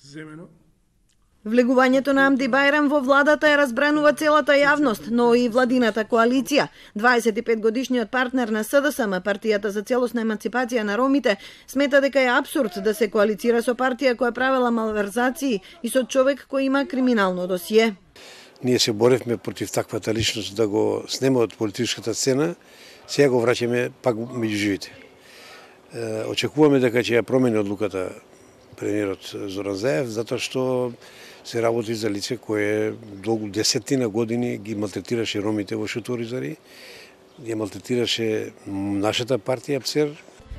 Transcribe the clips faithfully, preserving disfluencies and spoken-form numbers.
земено. Влегувањето на Амди Бајрам во владата е разбранува целата јавност, но и владината коалиција. дваесет и пет годишниот партнер на СДСМ, партијата за целосна еманципација на ромите, смета дека е апсурд да се коалицира со партија која правела малверзации и со човек кој има криминално досие. Ние се боревме против таквата личност да го снеме од политичката сцена, сега го враќаме пак меѓу живите. Очекуваме дека ќе ја промени одлуката премиерот Зоран Заев, затоа што се работи за лице кое долго десетина години ги малтретираше ромите во Шуторизари, ги малтретираше нашата партија ПСЕР.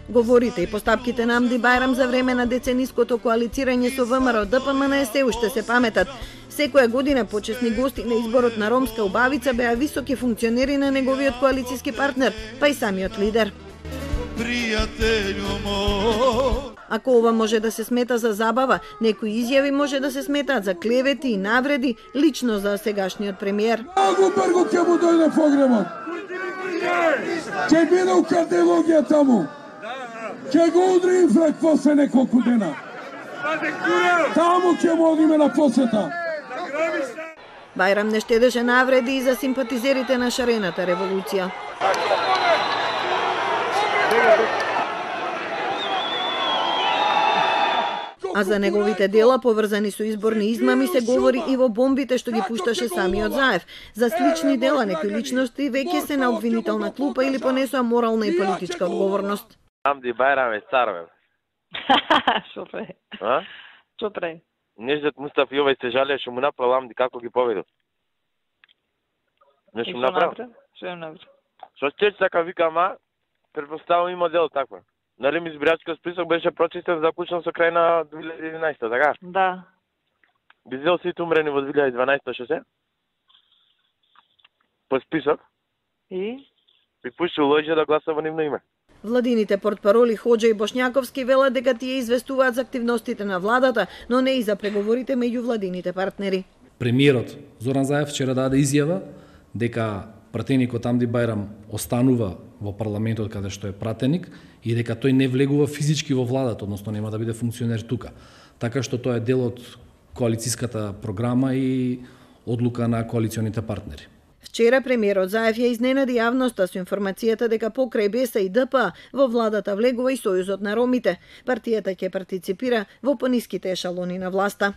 Говорите и постапките на Амди Бајрам за време на децениското коалицирање со ВМРО Д П М Н се уште се паметат. Секоја година почесни гости на изборот на ромска убавица беа високи функционери на неговиот коалициски партнер, па и самиот лидер. Ако ова може да се смета за забава, некои изјави може да се сметаат за клевети и навреди лично за сегашниот премиер. Многу брзо ќе му дојде погребот. Ќе биде у кардиологија таму. Ќе го удри инфракт после неколку дена. Таму ќе му одиме на посета. Бајрам не штедеше навреди и за симпатизерите на шарената револуција. А за неговите дела, поврзани со изборни измами, се говори и во бомбите што ги пушташе самиот Заев. За слични дела некои личности веќе се на обвинителна клупа или понесоа морална и политичка одговорност. Амди Бајрам е цар, бе. Шо прави? А? Шо прави? Неждет Мустаф Јовај се жалее што му направил Амди како ги победил. Нешто му направил? Шо им направил? Што ќе така викам, а? Предпоставам има дел такво. Нали ми избирачкиот список беше прочистен заклучен со крај на две илјади и единаесета, така? Да. Би взел сите умрени во две илјади и дванаесета, што се? По список? И? Би пуштил лоѓе да гласа во нивно име. Владините портпароли Хоџа и Бошњаковски велат дека тие известуваат за активностите на владата, но не и за преговорите меѓу владините партнери. Премиерот Зоран Заев вчера даде изјава дека пратеникот Амди Бајрам останува во парламентот каде што е пратеник и дека тој не влегува физички во владата, односно нема да биде функционер тука. Така што тоа е дел од коалициската програма и одлука на коалиционите партнери. Вчера премиерот Заев ја изненади јавноста со информацијата дека покрај Б Е С и Д П во владата влегува и Сојузот на ромите. Партијата ќе партиципира во пониските ешалони на власта.